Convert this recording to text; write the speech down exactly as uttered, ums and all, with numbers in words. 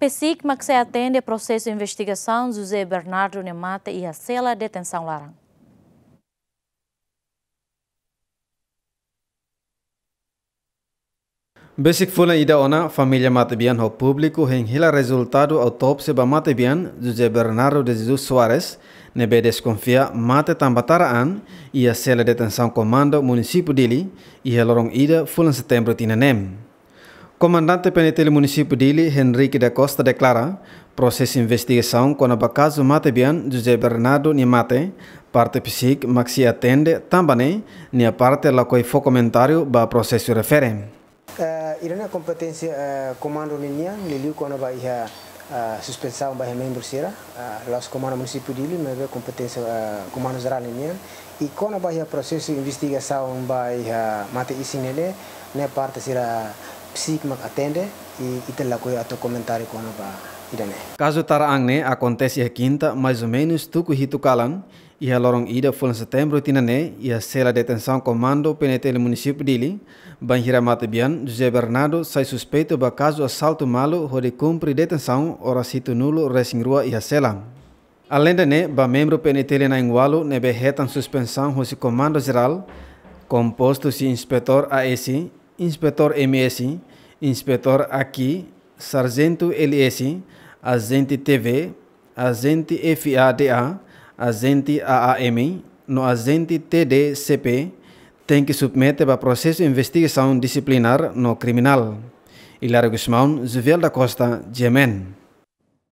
PCIC mak sei atende prosesu investigasaun José Bernardo nia mate iha sela detensaun laran. Besik fulan ida ona, família matebian ho públiku hein hela rezultadu autópsia ba matebian José Bernardo de Jesus Soares, ne'ebé deskonfia mate tanba tara an iha sela detensaun Komandu Munisípiu Dili, iha loron ida fulan Setembru tinan neen. Komandante PNTL Munisípiu Dili, Henrique da Costa, deklara, prosesu investigasaun kona-ba kazu matebian José Bernardo nia mate, parte PCIC mak sei atende, tanba ne'e nia parte lakohi fó komentáriu ba prosesu refere. Eh, ida-ne'e kompeténsia, eh, komandu ninian, liuliu kona-ba iha, eh, suspensaun ba iha membru sira, eh, la'ós Komandu Munisípiu Dili, maibé kompeténsia, eh, Komandu Jerál ninian. I kona-ba iha prosesu investigasaun ba iha mate isin ne'e, ne'e parte sira PCIC mak atende, i ita lakohi atu komentáriu kona-ba ida-ne'e. Kazu tara an ne'e akontese iha kinta, mais ou menus tuku hitu kalan, iha loron ida fulan Setembru tinan neen, iha sela detensaun Komandu PNTL Munisípiu Dili, bainhira matebian José Bernardo sai suspeitu ba kazu asaltu malu hodi kumpre detensaun oras hitunulu resin rua iha sela. Aleinde ne'e, ba membru PNTL na'in-ualu ne'ebé hetan suspensaun husi Komandu Jerál, kompostu husi Inspetór A S, Inspetór M S, Inspetór A Q, Sarjentu L S, Ajente T V, Ajente F A D A, Ajente A A M, no Ajente T D C P, tenke submete ba prosesu investigasaun disiplinár no kriminál. Hilário Gusmão, Juviel da Costa, G M N.